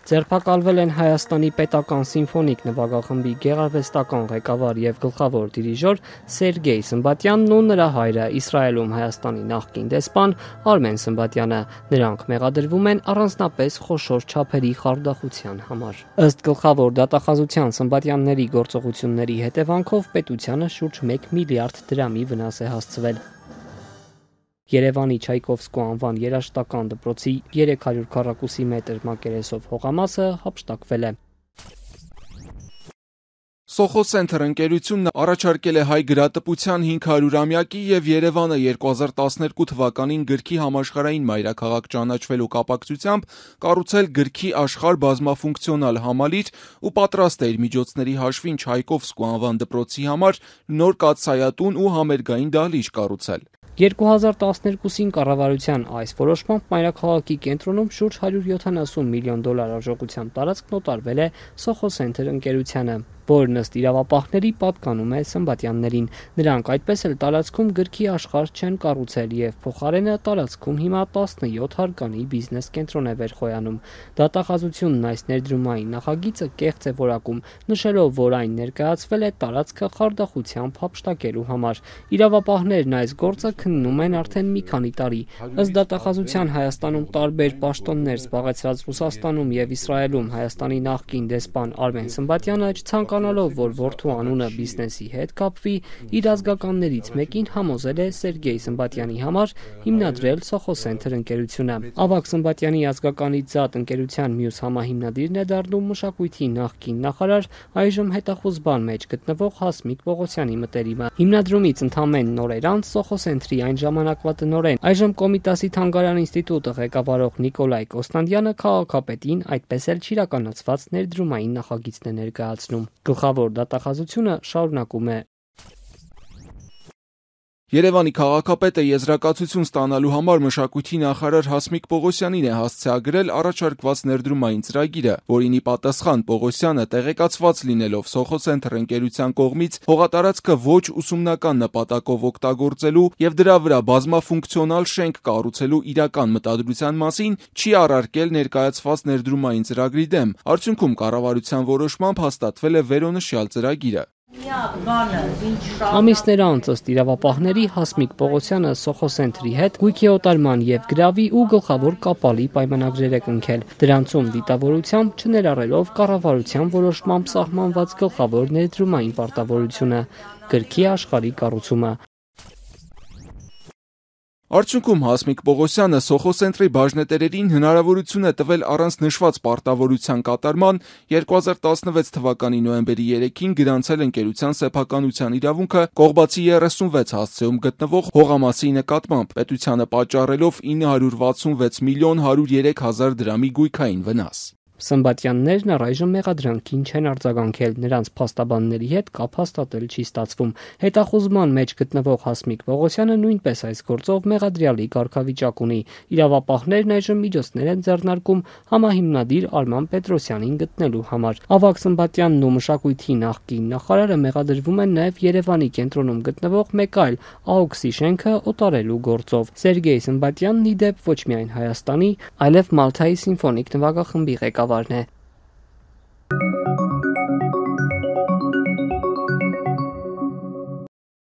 Ձերբակալվել են Հայաստանի պետական սիմֆոնիկ նվագախմբի գեղարվեստական ղեկավար եւ գլխավոր դիրիժոր Սերգեյ Սմբատյանն ու նրա հայրը, Իսրայելում Հայաստանի նախկին դեսպան Արմեն Սմբատյանը։ Նրանք մեղադրվում են առանձնապես խոշոր չափերի խարդախության համար։ Ըստ գլխավոր դատախազության Սմբատյանների գործողությունների հետևանքով պետությանը շուրջ 1 միլիարդ դրամի վնաս է հասցվել։ Երևանի Չայկովսկու անվան երաժշտական դպրոցի 300 քառակուսի մետր մակերեսով հողամասը հափշտակվել է։ Soho Center ընկերությունն առաջարկել է հայ գրատպության 500-ամյակի եւ Երևանը 2012 թվականին գրքի համաշխարհային մայրաքաղաք ճանաչվելու կապակցությամբ կառուցել գրքի աշխարհ բազմաֆունկցիոնալ համալիր ու պատրաստ է իր միջոցների հաշվին Չայկովսկու անվան դպրոցի համար նոր կաթսայատուն ու համերգային դահլիճ կառուցել։ 2012-ին կառավարության այս որոշմամբ մայրաքաղաքի կենտրոնում շուրջ $170 միլիոն արժողությամբ տարածքն օտարվել է Soho Center ընկերությանը, որն ըստ իրավապահների պատկանում է Սմբատյաններին։ Նրանք այդպես էլ տարածքում գրքի աշխարհ չեն կառուցել եւ փոխարենը տարածքում հիմա 17 հարկանի բիզնես կենտրոն է վերխոյանում։ Դատախազությունն այս ներդրումային նախագիծը կեղծ է որակում, նշելով, որ այն ներկայացվել է տարածքը խարդախությամբ հափշտակելու համար։ Իրավապահներն այս գործը քննում են արդեն մի քանի տարի։ Ըստ դատախազության Հայաստանում տարբեր պաշտոններ զբաղեցրած Ռուսաստանում եւ Իսրայելում Հայաստանի նախկին դեսպան Արմեն Սմբատյանը ցանկանալով, որ որդու անունը բիզնեսի հետ կապվի, իր ազգականներից մեկին համոզել է Սերգեյ Սմբատյանի համար հիմնադրել Soho Center ընկերությունը։ Ավագ Սմբատյանի ազգականից զատ ընկերության մյուս համահիմնադիրն է դառնում մշակույթի նախկին նախարար, այժմ հետախուզման մեջ գտնվող Հասմիկ Պողոսյանի մտերիմը։ Հիմնադրումից ընդամենը նոր անց Soho Center-ի այն ժամանակվա տնօրեն, այժմ Կոմիտասի թանգարան ինստիտուտը ղեկավարող Նիկոլայ Կոստանդյանը քաղաքապետին այդպես էլ չիրականացված ներդրումային նախագիծն է ներկայացնում։ Գլխավոր դատախազությունը շարունակում է։ Երևանի քաղաքապետը եզրակացություն ստանալու համար մշակույթի նախարար Հասմիկ Պողոսյանին է հասցեագրել առաջարկված ներդրումային ծրագիրը, որին ի պատասխան Պողոսյանը տեղեկացված լինելով Soho Center ընկերության կողմից հողատարածքը ոչ ուսումնական նպատակով օգտագործելու եւ դրա վրա բազմաֆունկցիոնալ շենք կառուցելու իրական մտադրության մասին չի առարկել ներկայացված ներդրումային ծրագրի դեմ։ Արդյունքում կառավարության որոշմամբ հաստատվել է վերոնշյալ ծրագիրը։ Ամիսներ անց ըստ իրավապահների Հասմիկ Պողոսյանը Soho Center-ի հետ գույքի օտարման եւ գրավի ու գլխավոր կապալի պայմանագրեր է կնքել։ Դրանցում դիտավորությամբ չներառելով կառավարության որոշմամբ սահմանված գլխավոր ներդրումային պարտավորությունը՝ գրքի աշխարհի կառուցումը։ Արդյունքում Հասմիկ Պողոսյանը Soho Center-ի բաժնետերերին հնարավորություն է տվել առանց նշված պարտավորության կատարման 2016 թվականի նոյեմբերի 3-ին գրանցել ընկերության սեփականության իրավունքը Կողբացի 36 հասցեում գտնվող հողամասի նկատմամբ, պետությանը պատճառելով 966 միլիոն 103 հազար դրամի գույքային վնաս։ Սմբատյաններն առայժմ մեղադրանքին չեն արձագանքել, նրանց փաստաբանների հետ կապ հաստատել չի ստացվում։ Հետախուզման մեջ գտնվող Հասմիկ Պողոսյանը նույնպես այս գործով մեղադրյալի կարգավիճակ ունի։ Իրավապահներն այժմ միջոցներ են ձեռնարկում համահիմնադիր Արման Պետրոսյանին գտնելու համար։ Ավագ Սմբատյանն ու մշակույթի նախկին նախարարը մեղադրվում են նաև Երևանի կենտրոնում գտնվող մեկ այլ AUKS-ի շենքը օտարելու գործով։ Սերգեյ Սմբատյանն ի դեպ ոչ միայն Հայաստանի, այլև Մալթայի սիմֆոնիկ նվագախմբի ղեկավարն է։